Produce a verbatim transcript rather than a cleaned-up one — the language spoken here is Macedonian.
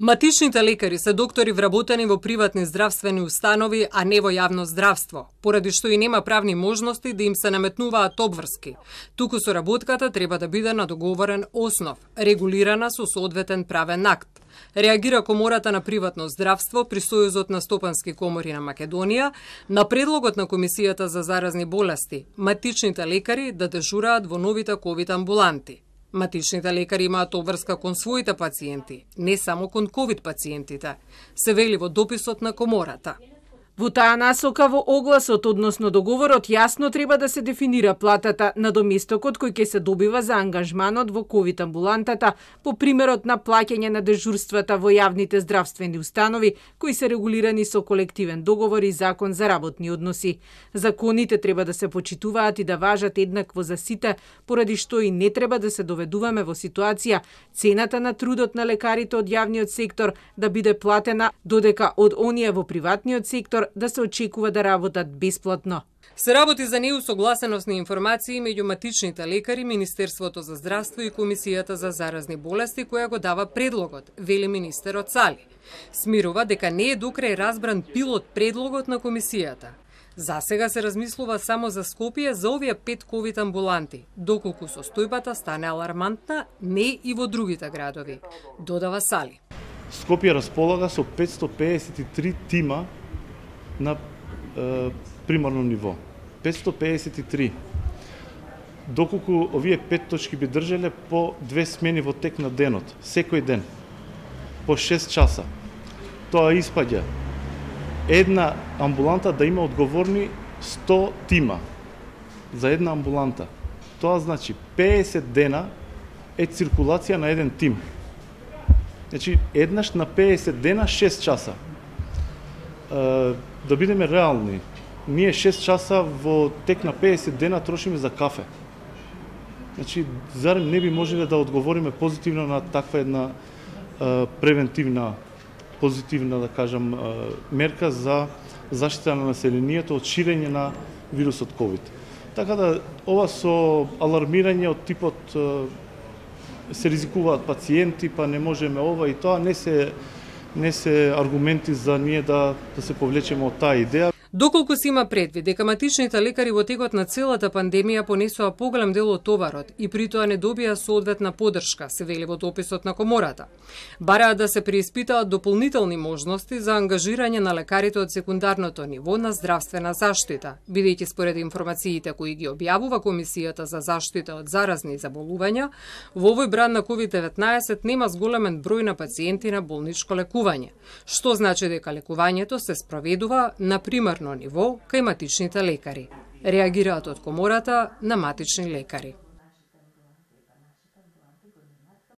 Матичните лекари се доктори вработени во приватни здравствени установи, а не во јавно здравство, поради што и нема правни можности да им се наметнуваат обврски. Туку соработката треба да биде на договорен основ, регулирана со соодветен правен акт. Реагира Комората на приватно здравство при Сојузот на стопански комори на Македонија на предлогот на Комисијата за заразни болести, матичните лекари да дежураат во новите ковид амбуланти. Матичните лекари имаат обврска кон своите пациенти, не само кон ковид пациентите, се вели во дописот на Комората. Во таа насока во огласот, односно договорот, јасно треба да се дефинира платата на доместокот кој ќе се добива за ангажманот во ковид амбулантата, по примерот на плаќање на дежурствата во јавните здравствени установи, кои се регулирани со колективен договор и закон за работни односи. Законите треба да се почитуваат и да важат еднакво за сите, поради што и не треба да се доведуваме во ситуација цената на трудот на лекарите од јавниот сектор да биде платена, додека од оние во приватниот сектор да се очекува да работат бесплатно. Се работи за неусогласеност на информации меѓу матичните лекари, Министерството за здравство и Комисијата за заразни болести, која го дава предлогот, вели министерот Сали. Смирува дека не е докрај разбран пилот предлогот на Комисијата. За сега се размислува само за Скопје за овие пет ковид амбуланти, доколку состојбата стане алармантна, не и во другите градови, додава Сали. Скопје располага со петстотини пеесет и три тима на е, примарно ниво. петстотини пеесет и три. Доколку овие пет точки би држале по две смени во тек на денот, секој ден, по шест часа. Тоа испаѓа една амбуланта да има одговорни сто тима за една амбуланта. Тоа значи пеесет дена е циркулација на еден тим. Значи еднаш на пеесет дена шест часа. Да бидеме реални, ние шест часа во тек на пеесет дена трошиме за кафе. Значи, зарем не би можеле да одговориме позитивно на таква една е, превентивна, позитивна, да кажам, е, мерка за заштита на населението од ширење на вирусот ковид. Така да, ова со алармирање од типот е, се ризикуваат пациенти, па не можеме ова и тоа, не се не се аргументи за ние да, да се повлечеме од таа идеја. Доколку се има предвид дека матичните лекари во текот на целата пандемија понесоа поголем дел од товарот и при тоа не добија соодветна поддршка, се вели во дописот на Комората. Бараат да се преиспитаат дополнителни можности за ангажирање на лекарите од секундарното ниво на здравствена заштита, бидејќи според информациите кои ги објавува Комисијата за заштита од заразни заболувања, во овој бран на ковид деветнаесет нема зголемен број на пациенти на болничко лекување, што значи дека лекувањето се спроведува на пример ниво кај матичните лекари. Реагираат од Комората на матични лекари.